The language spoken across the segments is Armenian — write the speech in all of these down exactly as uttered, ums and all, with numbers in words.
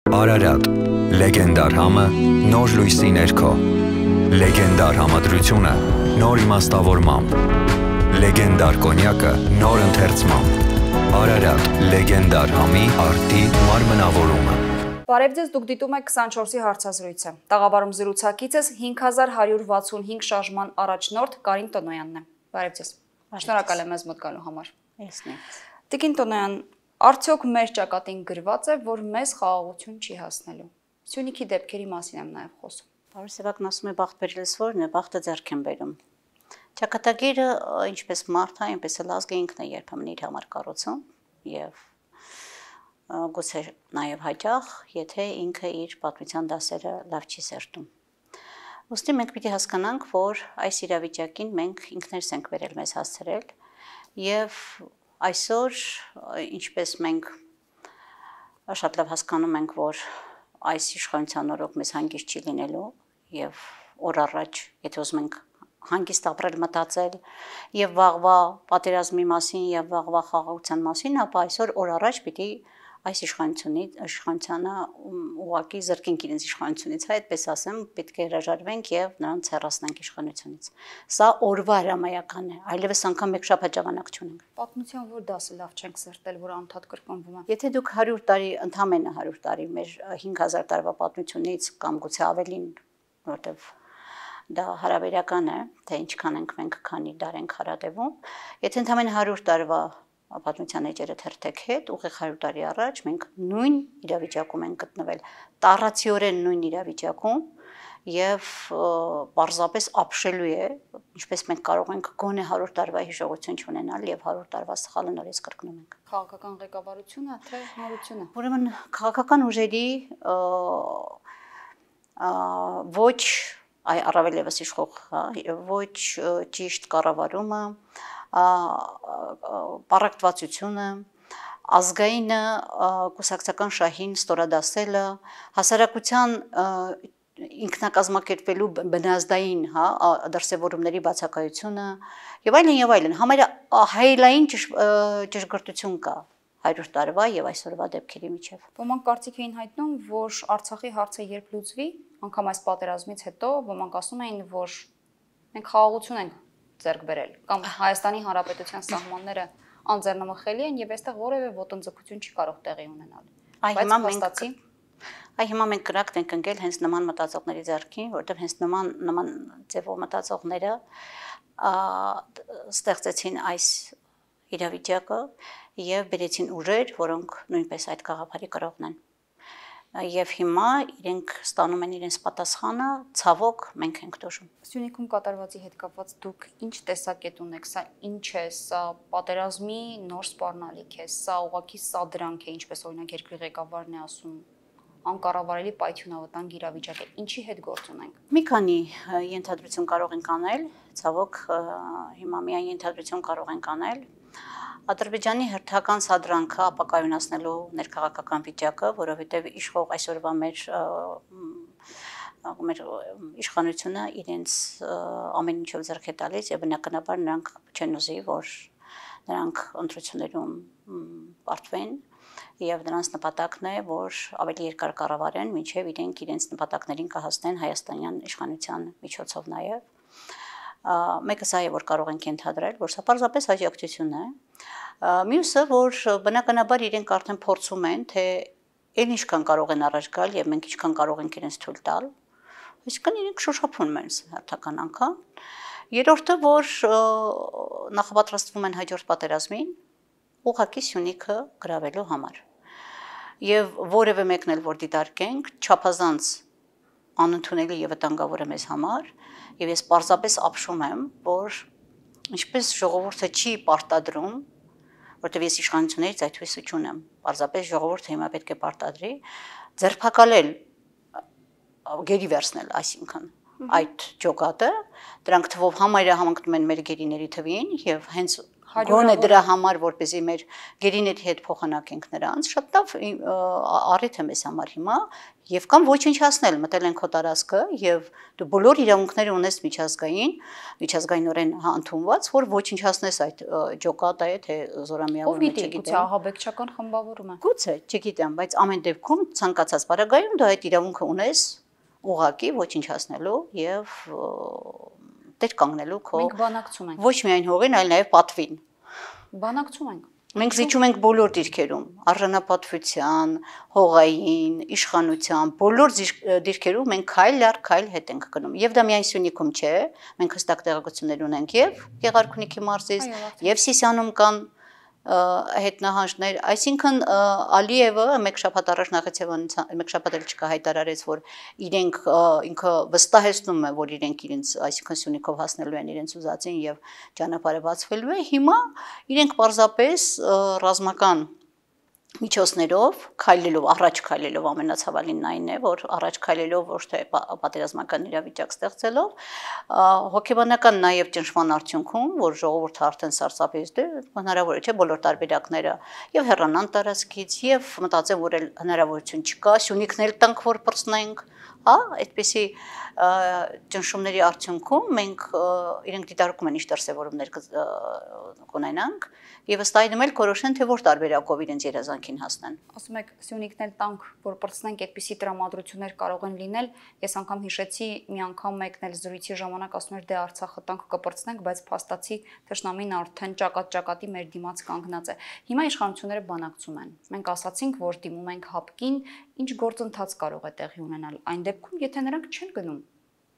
Արարատ, լեգենդար համը, նոր լույսի ներքո, լեգենդար համադրությունը, նոր իմաստավորմամբ, լեգենդար կոնյակը, նոր ընթերցմամբ, Արարատ, լեգենդար համի արտի մարմնավորումը։ Բարև ձեզ, դուք դիտում եք քսանչորսի հարցազրույցը։ Տաղավարում զրուցակիցս հինգ հազար հարյուր վաթսունհինգ շարժման առաջնորդ Կարին Տոնոյանն է։ Բարև ձեզ։ Շնորհակալ եմ մեզ մոտ գալու համար։ Տիկին Տոնոյան, արդյոք մեր ճակատին գրված է, որ մեզ խաղաղություն չի հասնելու։ Սյունիքի դեպքերի մասին եմ նաև խոսում։ Բարի Սևակն ասում է բախտ բերելս որն է, բախտը ձեռք են բերում։ Ճակատագիրը ինչպես մարդ է, այնպես էլ ազգը ինքն է երբեմն իր համար կառուցում եւ գուցե նաև հաճախ, եթե ինքը իր պատմության դասերը լավ չի սերտում։ Ոստի մենք պիտի հասկանանք, որ այս իրավիճակին մենք ինքներս ենք վերել մեզ հասցրել եւ այսօր ինչպես մենք շատ լավ հասկանում ենք, որ այս իշխանության օրոք մեզ հանգիստ չի լինելու եւ օր առաջ, եթե ուզում ենք հանգիստ ապրել, մտածել եւ վաղվա պատերազմի մասին եւ վաղվա խաղաղության մասին, ապա այսօր օր առաջ պիտի այս իշխանությունից իշխանությանը ուղղակի զրկենք իրենց իշխանությունից, հա, այդպես ասեմ, պետք է հրաժարվենք եւ նրանց հեռացնենք իշխանությունից։ Սա օրվա հրամայական է, այլևս անգամ մեկ շաբաթ ժամանակ չունենք։ Պատմության որ դասը լավ չենք սերտել, որ անդադ կրկնվում է։ Եթե դուք հարյուր տարի, ընդամենը հարյուր տարի մեր հինգ հազար տարվա պատմությունից կամ գուցե ավելին, որտեվ դա հարաբերական է, թե ինչքան ենք մենք քանի դար ենք հարատևում, եթե ընդամենը հարյուր տարվա պատմության էջերը թերթեք հետ, ուղիղ հարյուր տարի առաջ մենք նույն իրավիճակում ենք գտնվել, տառացիորեն նույն իրավիճակում եւ պարզապես ապշելու է, ինչպես մենք կարող ենք գոնե հարյուր տարվա հիշողություն չունենալ եւ հարյուր տարվա սխալը նորից կրկնում ենք։ Քաղաքական ղեկավարությունը, թե նորությունը։ Ուրեմն քաղաքական ուժերի ոչ այ առավել եւս իշխող, ոչ ճիշտ կառավարումը, պարակտվածությունը, ազգային կուսակցական շահին ստորադասելը, հասարակության ինքնակազմակերպվելու բնազդային, հա, դրսևորումների բացակայությունը եւ այլն եւ այլն, համարյա հայելային ճշգրտություն կա հարյուր տարվա եւ այսօրվա դեպքերի միջեւ։ Ոմանք կարծիք էին հայտնում, որ Արցախի հարցը երբ լուծվի, անգամ այս պատերազմից հետո ոմանք ասում էին, որ մենք խաղաղություն ենք ձեռք բերել, կամ Հայաստանի Հանրապետության սահմանները անձեռնմխելի են եւ այստեղ որևէ ոտնձգություն չի կարող տեղի ունենալ։ Բայց հաստատի Այ հիմա մենք կրակտ ենք ընկել հենց նման մտածողների ձեռքին, որտեղ հենց նման նման ձևով մտածողները ստեղծեցին այս իրավիճակը եւ բերեցին ուժեր, որոնք նույնպես այդ գաղափարի կրողն են։ Եվ հիմա իրենք ստանում են իրենց պատասխանը, ցավոք մենք ենք դժում։ Սյունիքում կատարվածի հետ կապված դուք ինչ տեսակետ ունեք, սա ինչ է, սա պատերազմի նոր սպառնալիք է, սա ուղղակի սադրանք է, ինչպես օրինակ երկրի ղեկավարն է ասում, անկառավարելի պայթյունավտանգ իրավիճակ է, ինչի հետ գործ ունենք։ Մի քանի ենթադրություն կարող ենք անել, ցավոք հիմա միայն ենթադրություն կարող ենք անել։ Ադրբեջանի հերթական սադրանքը ապակայունացնելու ներքաղաքական վիճակը, որովհետև իշխող այսօրվա մեր մեր իշխանությունը իրենց ամեն ինչով ձեռք է տալիս եւ բնականաբար նրանք չեն ուզի, որ նրանք ընտրություններում պարտվեն եւ նրանց նպատակն է, որ ավելի երկար կառավարեն, մինչեւ իրենք իրենց նպատակներին կհասնեն հայաստանյան իշխանության միջոցով նաեւ։ Մեկը սա է, որ կարող ենք ենթադրել, որ սա պարզապես հաջողություն է։ Մյուսը, որ բնականաբար իրենք արդեն փորձում են, թե այն ինչքան կարող են առաջ գալ եւ մենք ինչքան կարող ենք իրենց թույլ տալ։ Այսինքն իրենք շոշափում են հերթական անգամ։ Երրորդը, որ նախապատրաստվում են հաջորդ պատերազմին, ուղղակի Սյունիքը գրավելու համար։ Եվ որևէ մեկն էլ որ դիտարկենք, չափազանց անընդունելի եւ վտանգավոր է մեզ համար, եւ ես պարզապես ապշում եմ, որ ինչպես ժողովուրդը չի պարտադրում, որտեղ ես իշխանություններից այդ հույսը չունեմ, պարզապես ժողովուրդը հիմա պետք է պարտադրի, ձերբակալել, գերի վերցնել, այսինքն այդ ջոկատը, դրանք թվով համարյա համընկնում են մեր գերիների թվին եւ հենց Գոնե դրա համար, որպեսզի մեր գերիների հետ փոխանակենք նրանց, շատ լավ առիթ է մեզ համար հիմա, եւ կամ ոչնչացնել, մտել են քո տարածքը եւ դու բոլոր իրավունքները ունես միջազգային, միջազգայինորեն ընդունված, որ ոչնչացնես այդ ջոկատը, թե զորամիավորը, չգիտեմ։ Ով գիտի, ահաբեկչական խմբավորում է։ Գուցե, չգիտեմ, բայց ամեն դեպքում ցանկացած բարագայում դու այդ իրավունքը ունես ուղղակի ոչնչացնելու եւ դեր կանգնելու քո Մենք բանակցում ենք։ Ոչ միայն հողին, այլ նաև պատվին։ Բանակցում ենք։ Մենք զիջում ենք բոլոր դիրքերում, արժանապատվության, հողային, իշխանության, բոլոր դիրքերում մենք քայլ առ քայլ հետ ենք գնում։ Եվ դա միայն Սյունիքում չէ, մենք հստակ տեղեկություններ ունենք եւ Գեղարքունիքի մարզից, եւ Սիսիանում կան հետնահանջներ, այսինքն Ալիևը մեկ շաբաթ առաջ Նախիցևանյան մեկ շաբաթ էլ չկա հայտարարեց, որ իրենք ինքը վստահեցնում է, որ իրենք իրենց այսինքն Սյունիքով հասնելու են իրենց ուզածին եւ ճանապարհը բացվելու է, հիմա իրենք պարզապես ռազմական միջոցներով քայլելով առաջ քայլելով ամենացավալին այն է, որ առաջ քայլելով ոչ թե պատերազմական իրավիճակ ստեղծելով հոգեբանական նաև ճնշման արդյունքում, որ ժողովուրդը արդեն սարսափից դե հնարավոր է չէ բոլոր տարբերակները եւ հեռանան տարածքից եւ մտածեմ, որ էլ հնարավորություն չկա, Սյունիքն էլ տանք որ պրծնենք, հա, այդպեսի ճնշումների արդյունքում մենք իրենք դիտարկում են ինչ դրսևորումներ կունենանք եւ ըստ այդմ էլ կորոշեն թե որ տարբերակով իրենց երազանքին հասնեն։ Ասում եք Սյունիքն էլ տանք որ պրծնենք, այդպիսի տրամադրություններ կարող են լինել։ Ես անգամ հիշեցի մի անգամ մեկն էլ զրույցի ժամանակ ասում էր դե Արցախը տանք կպրծնենք, բայց փաստացի թշնամին արդեն ճակատ-ճակատի մեր դիմաց կանգնած է։ Հիմա իշխանությունները բանակցում են։ Մենք ասացինք, որ դիմում ենք հապկին, ինչ գործընթաց կարող է տեղի ունենալ այն դեպքում, եթե նրանք չեն գնում։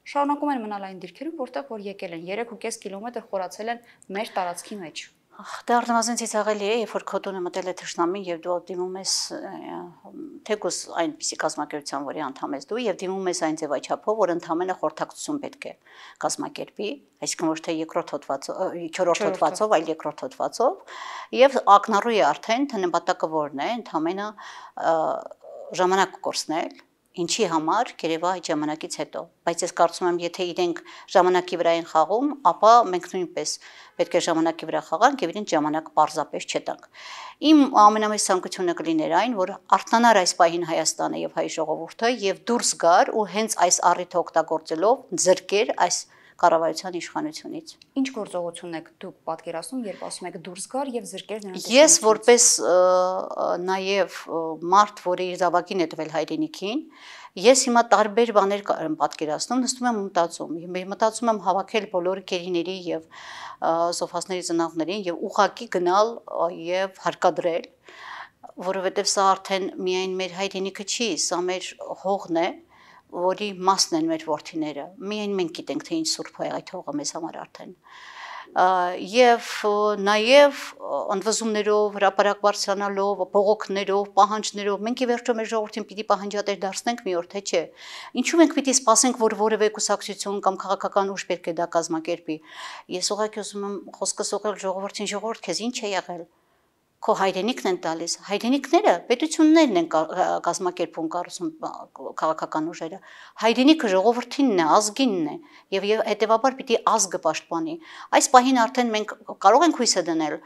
Շարունակում են մնալ այն դիրքերում, որտեղ որ եկել են, երեք ու կես կիլոմետր խորացել են մեր տարածքի մեջ։ Դա առնվազն ցավալի է, երբ որ քո տունը մտել է թշնամին եւ դու դիմում ես թեկուզ այնպիսի կազմակերպության, որի անդամ ես դու եւ դիմում ես այն ձևաչափով, որ ընդհանրապես խորհրդակցություն պետք է կազմակերպի, այսինքն ոչ թե երկրորդ հոդվածով, չորրորդ հոդվածով, այլ երկրորդ հոդվածով եւ ակնառու է արդեն թե նպատակը որն է, ընդհանրապես ժամանակ կորցնել Ինչի համար կերևա այդ ժամանակից հետո, բայց ես կարծում եմ, եթե իրենք ժամանակի վրա են խաղում, ապա մենք նույնպես պետք է ժամանակի վրա խաղանք եւ իրենց ժամանակ պարզապես չտանք։ Իմ ամենամեծ ցանկությունը կլիներ այն, որ արտանար այս պահին Հայաստանը եւ հայ ժողովուրդը եւ դուրս գար ու հենց այս առիթը օգտագործելով ձրկեր այս կառավարության իշխանությունից։ Ինչ գործողություն եք դուք պատկերացնում, երբ ասում եք դուրս գար եւ զրկեր նրանց։ Ես որպես նաեւ մարդ, որը իր զավակին է տվել հայրենիքին, ես հիմա տարբեր բաներ եմ պատկերացնում, նստում եմ մտածում, մտածում եմ հավաքել բոլոր գերիների եւ սոֆասների ծնողներին եւ ուղակի գնալ եւ հարկադրել, որովհետեւ սա արդեն միայն մեր հայրենիքը չի, սա մեր հողն է, որի մասն են մեր որդիները, միայն մենք գիտենք, թե ինչ սուրբ է այդ հողը մեզ համար արդեն։ Եվ նաև ընդվզումներով, հրապարակ բարձրանալով, բողոքներով, պահանջներով, մենք ի վերջո մեր ժողովրդին պիտի պահանջատեր դարձնենք մի օր, թե չէ։ Ինչու մենք պիտի սպասենք, որ որևէ կուսակցություն կամ քաղաքական ուժ պետք է դա կազմակերպի։ Ես ուղղակի ուզում եմ խոսքս ուղղել ժողովրդին, ժողովուրդ, քեզ ինչ է եղել։ Քո հայրենիքն են տալիս, հայրենիքները պետություններն են կազմակերպում կառուցում քաղաքական ուժերը, հայրենիքը ժողովրդինն է, ազգինն է եւ հետեւաբար պիտի ազգը պաշտպանի։ Այս պահին արդեն մենք կարող ենք հույսը դնել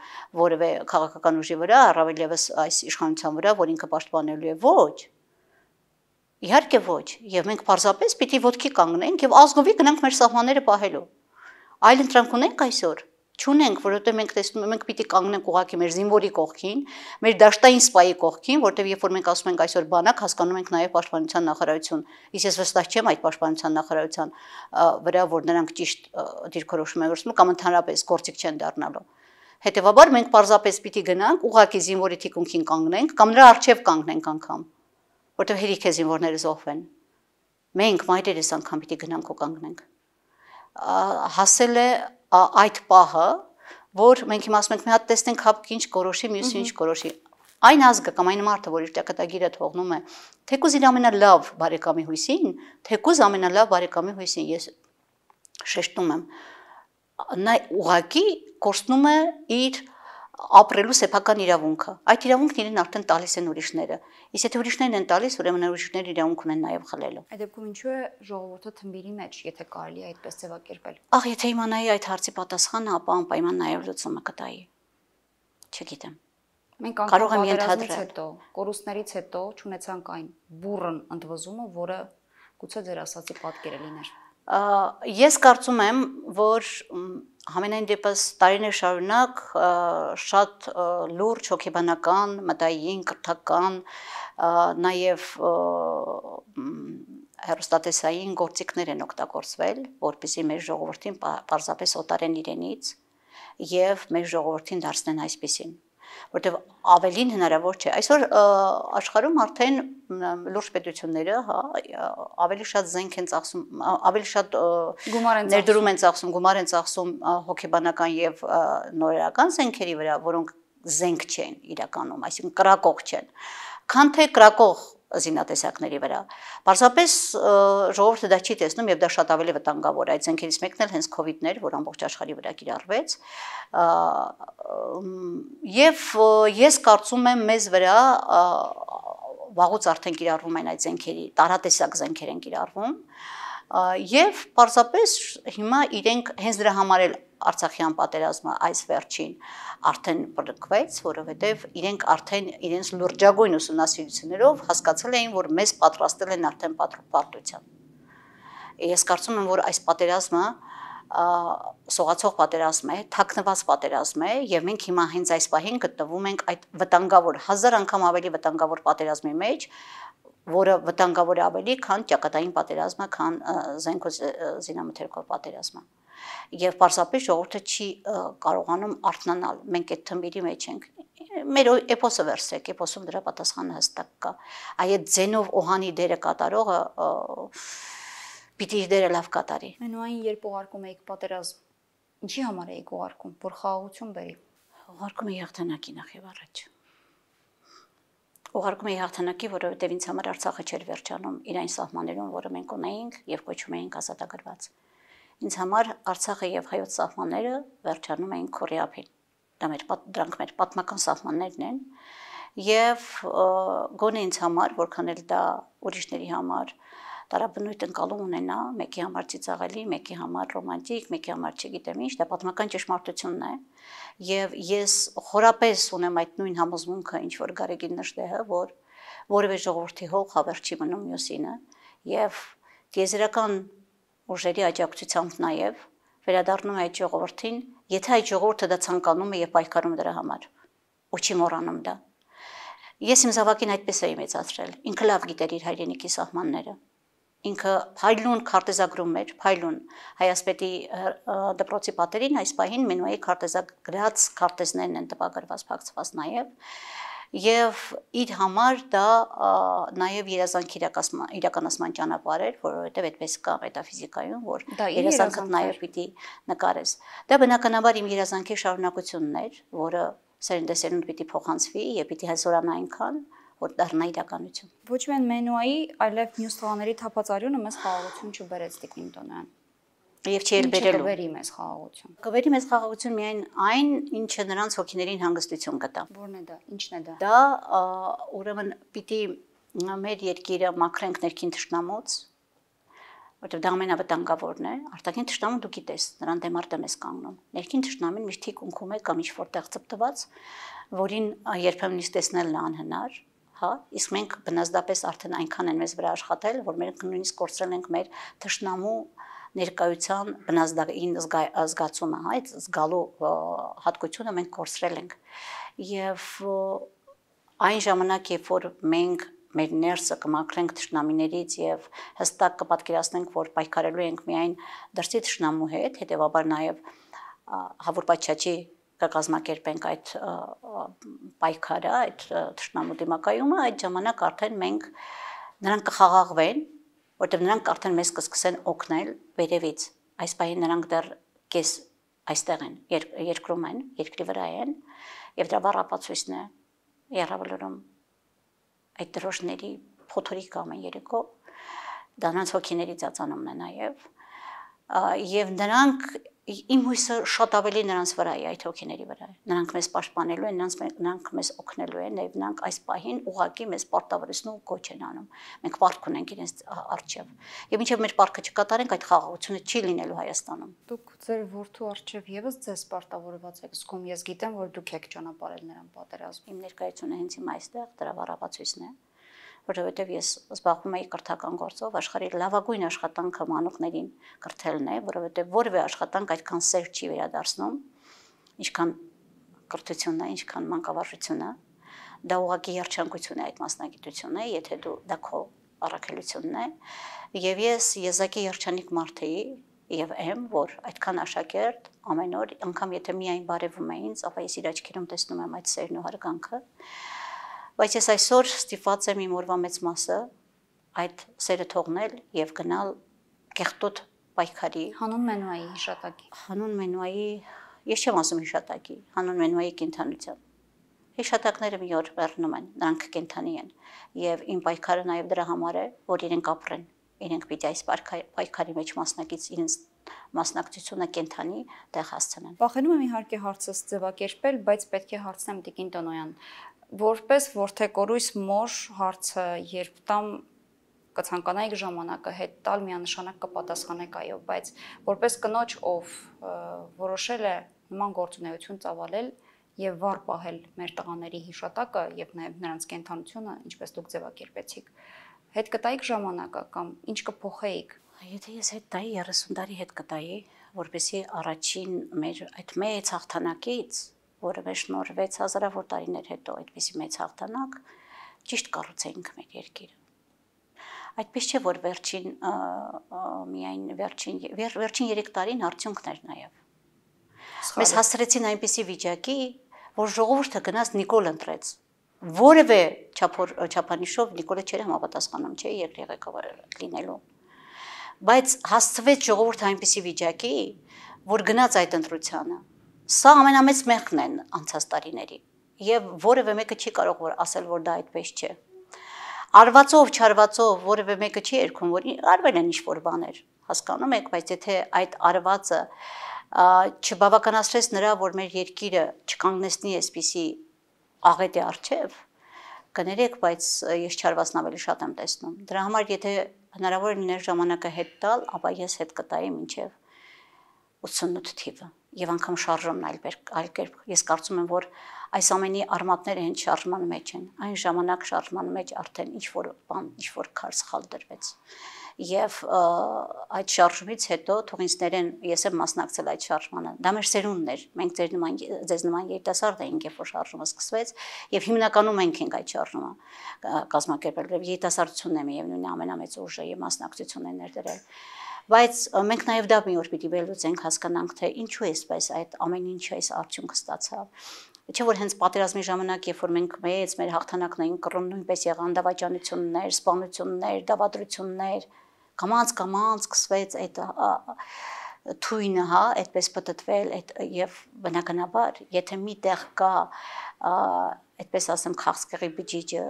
որևէ քաղաքական ուժի վրա, առավել եւս այս իշխանության վրա, որ ինքը պաշտպանելու է, ոչ։ Իհարկե ոչ, եւ մենք պարզապես պիտի ոտքի կանգնենք եւ ազգովի գնանք մեր սահմանները պահելու։ Այլ ընտրանք ունենք այսօր։ Չունենք, որովհետև մենք տեսնում ենք, մենք պիտի կանգնենք ուղղակի մեր զինվորի կողքին, մեր դաշտային սպայի կողքին, որտեղ երբ որ մենք ասում ենք այսօր բանակ, հասկանում ենք նաև պաշտպանության նախարարություն։ Իսկ ես վստահ չեմ այդ պաշտպանության նախարարության վրա, որ նրանք ճիշտ դիրքորոշում են որսում կամ ընդհանրապես գործիք չեն դառնալու։ Հետևաբար մենք պարզապես պիտի գնանք ուղղակի զինվորի թիկունքին կանգնենք կամ նրա առջև կանգնենք անգամ, որտեղ հերիք է զինվորները զոհվեն։ Մենք մայրերս անգամ պիտի գնանք ու կանգնենք։ Հասել է այդ պահը, որ մենք հիմա ասում ենք մի հատ տեսնենք հապկ ինչ կորոշի, մյուսը ինչ կորոշի։ Այն ազգը կամ այն մարդը, որ իր ճակատագիրը թողնում է, թեկուզ իր ամենալավ բարեկամի հույսին, թեկուզ ամենալավ բարեկամի հույսին, ես շեշտում եմ, նա ուղղակի կորցնում է իր ապրելու սեփական իրավունքը։ Այդ իրավունքն իրեն արդեն տալիս են ուրիշները։ Իսկ եթե ուրիշներն են տալիս, ուրեմն ուրիշները իրավունք ունեն նաև խլելու։ Այդ դեպքում ինչու է ժողովուրդը թմբիրի մեջ, եթե կարելի է այդպես ձևակերպել։ Ահ, եթե իմանայի այդ հարցի պատասխանը, ապա անպայման նաև լուծումը կտայի։ Չգիտեմ։ Մենք անգամ պատերազմից հետո, կորուստներից հետո չունեցանք այն բուրըն ընդվզումը, որը գուցե ձեր ասացի պատկերը լիներ։ Ես կարծում եմ, որ համենայն դեպս տարիներ շարունակ շատ լուրջ հոգեբանական, մտային, կրթական, նաև հեռուստատեսային գործիքներ են օգտագործվել, որպեսզի մեր ժողովրդին պարզապես օտարեն իրենից եւ մեր ժողովրդին դարձնեն այսպիսին, որտեղ ավելին հնարավոր չէ։ Այսօր աշխարհում արդեն լուրջ պետությունները, հա, ավելի շատ զենք են ծախսում, ավելի շատ ներդրում են ծախսում, գումար են ծախսում հոգեբանական եւ նորերական զենքերի վրա, որոնք զենք չեն իրականում, այսինքն կրակող չեն, քան թե կրակող զինատեսակների վրա։ Պարզապես ժողովուրդը դա չի տեսնում եւ դա շատ ավելի վտանգավոր է։ Այդ զենքերից մեկն էլ հենց COVID-ն էր, որ ամբողջ աշխարհի վրա կիրառվեց։ Եվ ես կարծում եմ մեզ վրա վաղուց արդեն կիրառվում են այդ զենքերի, տարատեսակ զենքեր են կիրառվում։ Եվ պարզապես հիմա իրենք հենց դրա համար էլ Արցախյան պատերազմը այս վերջին արդեն բռնկվեց, որովհետև իրենք արդեն իրենց լրջագույն ուսումնասիրություններով հասկացել էին, որ մեզ պատրաստել են արդեն պատրաստության։ Ես կարծում եմ, որ այս պատերազմը սողացող պատերազմ է, թաքնված պատերազմ է, եւ մենք հիմա հենց այս պահին գտնվում ենք այդ վտանգավոր, հազար անգամ ավելի վտանգավոր պատերազմի մեջ, որը վտանգավոր է ավելի, քան ճակատային պատերազմը, քան զենք ու զինամթերքով պատերազմը։ Եվ պարզապես ժողովուրդը չի կարողանում արթնանալ, մենք այդ թմբիրի մեջ ենք։ Մեր էպոսը վերցրեք, էպոսում դրա պատասխանը հստակ կա։ Այդ ձենով օհանի դերը կատարողը պիտի իր դերը լավ կատարի։ Մենուային երբ ուղարկում եք պատերազմ, ինչի համար եք ուղարկում, որ խաղաղություն բերի։ Ուղարկում եք հաղթանակի նախ եւ առաջ։ Ուղարկում եք հաղթանակի, որովհետև ինձ համար Արցախը չէր վերջանում իր այն սահմաններում, որը մենք ունեինք եւ կոչում էինք ազատագրված։ Ինձ համար Արցախը եւ հայոց սահմանները վերջանում էին Քորեափին։ Դա մեր դրանք մեր պատմական սահմաններն են եւ գոնե ինձ համար, որքան էլ դա ուրիշների համար տարաբնույթ ընկալում ունենա, մեկի համար ծիծաղելի, մեկի համար ռոմանտիկ, մեկի համար չգիտեմ ինչ, դա պատմական ճշմարտությունն է եւ ես խորապես ունեմ այդ նույն համոզմունքը, ինչ որ Գարեգին նշտեհը, որ որևէ ժողովրդի հող հավեր չի մնում մյուսինը եւ տիեզերական ուժերի աջակցությամբ նաև վերադառնում է այդ ժողովրդին, եթե այդ ժողովուրդը դա ցանկանում է եւ պայքարում դրա համար, ու չի մոռանում դա։ Ես իմ զավակին այդպես էի մեծացրել, ինքը լավ գիտեր իր հայրենիքի սահմանները, ինքը փայլուն քարտեզագրում էր, փայլուն Հայասպետի դպրոցի պատերին այս պահին մենուայի քարտեզագրած քարտեզներն են տպագրված, փակցված նաև, եւ իր համար դա նաև երազանքի իրականացման ճանապարհ էր, որովհետև այդպես կա մետաֆիզիկայում, որ երազանքը նաև պիտի նկարես։ Դա բնականաբար իմ երազանքի շարունակությունն էր, որը սերնդեսերունդ պիտի փոխանցվի եւ պիտի հզորանա այնքան, որ դառնա իրականություն։ Ոչ միայն մենուայի, այլև մյուս տղաների թափածարյունը մեզ խաղաղություն չբերեց Տիկին Տոնյան։ Եվ չի էլ բերելու։ Կվերի մեզ խաղաղություն։ Կվերի մեզ խաղաղություն միայն այն, ինչը նրանց հոգիներին հանգստություն կտա։ Որն է դա։ Ինչն է դա։ Դա ուրեմն պիտի մեր երկիրը մաքրենք ներքին թշնամուց, որտեղ դա ամենավտանգավորն է։ Արտաքին թշնամուն դու գիտես, նրան դեմ արդեմ ես կանգնում։ Ներքին թշնամին միշտ թիկունքում է կամ ինչ որտեղ ծպտված, որին երբեմն տեսնելն անհնար, հա, իսկ մենք բնազդապես արդեն այնքան են մեզ վրա աշխատել, որ մենք նույնիսկ կորցրել ենք մեր թշնամու ներկայության բնազդային զգացումը, հա, այդ զգալու հատկությունը մենք կորցրել ենք։ Եվ այն ժամանակ, երբ որ մենք մեր ներսը կմաքրենք թշնամիներից եւ հստակ կպատկերացնենք, որ պայքարելու ենք միայն դրսի թշնամու հետ, հետեւաբար նաեւ հավուր պատշաճի կկազմակերպենք այդ պայքարը, այդ թշնամու դիմակայումը, այդ ժամանակ արդեն մենք նրանք կխաղաղվեն, որտեղ նրանք արդեն մեզ կսկսեն օգնել վերևից։ Այս պահին նրանք դեռ կես այստեղ են, երկրում են, երկրի վրա են, եւ դրա բառապացույցն է Եղավլուրում այդ դրոշների փոթորիկ ամեն երեկո, դա նրանց հոգիների ծածանումն է նաև, եւ նրանք իմ հույսը շատ ավելի նրանց վրա է, այդ հոգիների վրա է։ Նրանք մեզ պաշտպանելու են, նրանք մեզ օգնելու են, եւ նրանք այս պահին ուղղակի մեզ պարտավորեցնում ու կոչ են անում։ Մենք պարտք ունենք իրենց առջև։ Եվ մինչև մեր պարտքը չկատարենք, այդ խաղաղությունը չի լինելու Հայաստանում։ Դուք ձեր որդու առջև եւս ձեզ պարտավորված եք զգում։ Ես գիտեմ, որ դուք եք ճանապարհել նրան պատերազմ։ Իմ ներկայությունը հենց հիմա այստեղ դրա վառապացույցն է, որովհետև ես զբաղվում եի կրթական գործով, աշխարհի լավագույն աշխատանքը մանուկներին կրթելն է, որովհետև որևէ աշխատանք այդքան սեր չի վերադարձնում, ինչքան կրթությունն է, ինչքան մանկավարժությունը, դա ուղղակի երջանկություն է այդ մասնագիտությունը, եթե դու դա քո առաքելությունն է, եւ ես եզակի երջանիկ մարդ էի եւ եմ, որ այդքան աշակերտ ամեն օր, անգամ եթե միայն բարևում է ինձ, ապա ես իր աչքերում տեսնում եմ այդ սերն ու հարգանքը։ Բայց ես այսօր ստիպված եմ իմ օրվա մեծ մասը այդ սերը թողնել եւ գնալ կեղտոտ պայքարի հանուն Մենուայի հիշատակի։ Հանուն Մենուայի, ես չեմ ասում հիշատակի, հանուն Մենուայի կենդանության։ Հիշատակները մի օր վերնում են, նրանք կենդանի են եւ իմ պայքարը նաեւ դրա համար է, որ իրենք ապրեն, իրենք պիտի այս պայքարի մեջ մասնակից իրենց մասնակցությունը կենդանի տեղ հասցնեն։ Վախենում եմ իհարկե հարցս ձևակերպել, բայց պետք է հարցնեմ Տիկին Տոնոյան, որպես որդեկորույս մոր հարցը երբ տամ կցանկանայիք ժամանակը հետ տալ միանշանակ կպատասխանեք այո, բայց որպես կնոջ, ով որոշել է նման գործունեություն ծավալել եւ վառ պահել մեր տղաների հիշատակը եւ նաեւ նրանց կենդանությունը, ինչպես դուք ձևակերպեցիք, հետ կտայիք ժամանակը կամ ինչ կփոխեիք։ Եթե ես հետ տայի երեսուն տարի հետ կտայի, որպեսզի առաջին մեր այդ մեծ հաղթանակից, որը մեր շնորհվեց հազարավոր տարիներ հետո, այդպիսի մեծ հաղթանակ, ճիշտ կառուցեինք մեր երկիրը։ Այդպես չէ, որ վերջին միայն վերջին վերջին երեք տարին արդյունքն էր նաև։ Մեզ հասցրեցին այնպիսի վիճակի, որ ժողովուրդը գնաց Նիկոլ ընտրեց։ Որևէ չափանիշով Նիկոլը չէր համապատասխանում, չէ, երկրի ղեկավար լինելու։ Բայց հասցվեց ժողովուրդը այնպիսի վիճակի, որ գնաց այդ ընտրությանը։ Սա ամենամեծ մեղքն են անցած տարիների, եւ որևէ մեկը չի կարող որ ասել, որ դա այդպես չէ։ Արվածով, չարվածով որևէ մեկը չի երգում, որ արվել են ինչ-որ բաներ, հասկանում եք, բայց եթե այդ արվածը չբավականացրեց նրա, որ մեր երկիրը չկանգնեցնի այսպիսի աղետի առջև, կներեք, բայց ես չարվածն ավելի շատ եմ տեսնում։ Դրա համար եթե հնարավոր է լիներ ժամանակը հետ տալ, ապա ես հետ կտայի մինչև ութսունութ թիվը եւ անգամ շարժումն այլ այլ կերպ։ Ես կարծում եմ, որ այս ամենի արմատները հենց շարժման մեջ են։ Այն ժամանակ շարժման մեջ արդեն ինչ-որ բան, ինչ-որ քար սխալ դրվեց։ Եվ այդ շարժումից հետո թող ինձ ներեն, ես եմ մասնակցել այդ շարժմանը։ Դա մեր սերունդն էր։ Մենք ձեր նման ձեզ նման երիտասարդ էինք, երբ որ շարժումը սկսվեց, եւ հիմնականում մենք ենք այդ շարժումը կազմակերպել։ Եվ երիտասարդությունն է միևնույն ամենամեծ ուժը եւ մասնակցությունն է ներդրել։ Բայց մենք նաև դա մի օր պիտի վերլուծենք, հասկանանք, թե ինչու է այսպես այդ ամեն ինչը այս արդյունքը ստացավ։ Չէ՞ որ հենց պատերազմի ժամանակ, երբ որ մենք մեծ մեր հաղթանակն էին կռում, նույնպես եղան դավաճանություններ, սպանություններ, դավադրություններ, կամած կամած սկսվեց այդ թույնը, հա, այդպես պատտվել, այդ եւ բնականաբար, եթե միտեղ կա այդպես ասեմ քաղցկեղի բջիջը,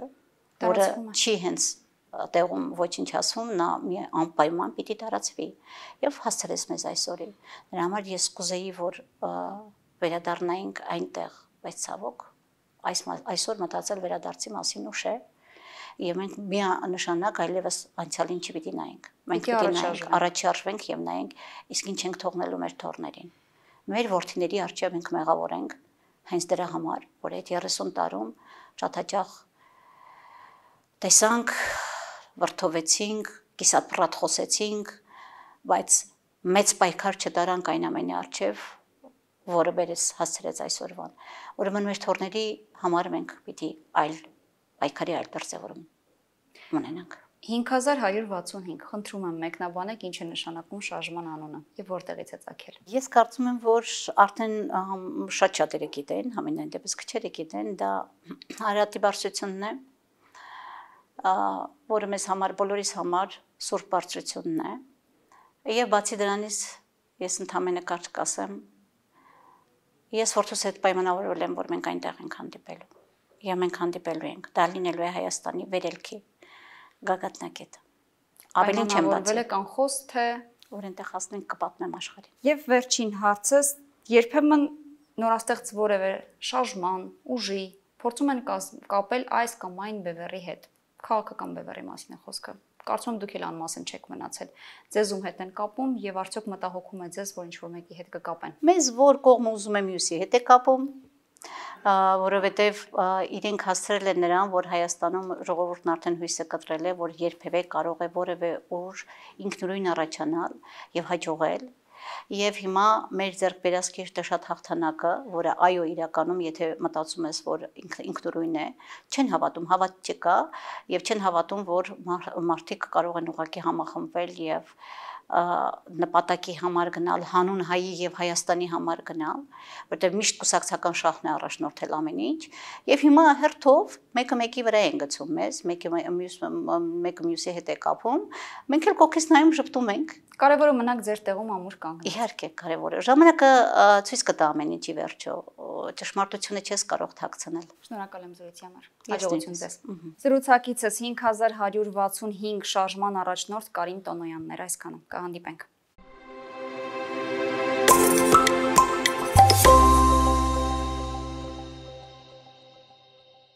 որը չի հենց տեղում ոչինչ ասում, նա մի անպայման պիտի տարածվի եւ հասցրեց մեզ այսօրին։ Դրա համար ես կուզեի, որ վերադառնայինք այնտեղ, բայց ցավոք այս այսօր մտածել վերադարձի մասին ուշ է եւ մենք միանշանակ այլևս անցյալին չպիտի նայենք։ Մենք պիտի նայենք, առաջարժվենք եւ նայենք, իսկ ինչ ենք թողնելու մեր թորներին։ Մեր որդիների առջեւ ենք մեղավորենք հենց դրա համար, որ այդ երեսուն տարում շատ տեսանք, վրթովեցինք, կիսապրատ խոսեցինք, բայց մեծ պայքար չդարանք այն ամենի առջև, որը բերեց հասցրեց այսօրվան։ Ուրեմն մեր թորների համար մենք պիտի այլ պայքարի այլ դրսևորում ունենանք։ հինգ հազար հարյուր վաթսունհինգ, խնդրում եմ մեկնաբանեք ինչ է նշանակում շարժման անունը եւ որտեղից է ծագել։ Ես կարծում եմ, որ արդեն շատ շատերը գիտեն, համենայն դեպս քչերը գիտեն, դա Արարատի բարձրությունն է, որը մեզ համար, բոլորիս համար սուրբ բարձրությունն է, եւ բացի դրանից ես ընդհանրապես կարճ կասեմ, ես որդուս հետ պայմանավորվել եմ, որ մենք այնտեղ ենք հանդիպելու, եւ մենք հանդիպելու ենք, դա լինելու է Հայաստանի վերելքի գագաթնակետը։ Ավելին չեմ բացել։ Պայմանավորվել եք անխոս, թե որ այնտեղ հասնենք կպատմեմ աշխարհին։ Եվ վերջին հարցս, երբեմն նորաստեղծ որևէ շարժման, ուժի փորձում են կապել այս կամ այն բևեռի հետ։ Քաղաքական բևեռի մասին է խոսքը։ Կարծում եմ դուք էլ անմասն չեք մնացել։ Ձեզ ում հետ են կապում եւ արդյոք մտահոգում է ձեզ, որ ինչ-որ մեկի հետ կկապեն։ Մեզ որ կողմը ուզում է մյուսի հետ է կապում, որովհետև իրենք հասցրել են նրան, որ Հայաստանում ժողովուրդն արդեն հույսը կտրել է, որ երբևէ կարող է որևէ ուժ ինքնուրույն առաջանալ եւ հաջողել։ Եվ հիմա մեր ձեռք բերած կիրճը շատ հաղթանակը, որը այո իրականում, եթե մտածում ես, որ ինքնուրույն է, չեն հավատում, հավատ չկա եւ չեն հավատում, որ մարդիկ կարող են ուղղակի համախմբվել եւ նպատակի համար գնալ, հանուն հայի եւ Հայաստանի համար գնալ, որտեղ միշտ կուսակցական շահն է առաջնորդել ամեն ինչ, եւ հիմա հերթով մեկը մեկի վրա են գցում մեզ, մեկը մյուս մեկը մյուսի հետ է կապում, մենք էլ կողքից նայում ժպտում ենք։ Կարևորը մնաք ձեր տեղում ամուր կանգնած։ Իհարկե, կարևորը ժամանակը ցույց կտա ամեն ինչի վերջո, ճշմարտությունը չես կարող թաքցնել։ Շնորհակալ եմ զրույցի համար։ Հաջողություն ձեզ։ Զրուցակիցս հինգ հազար հարյուր վաթսունհինգ շարժման առաջնորդ Կարին Տոնոյանն էր, այսքանը։ Կհանդիպենք։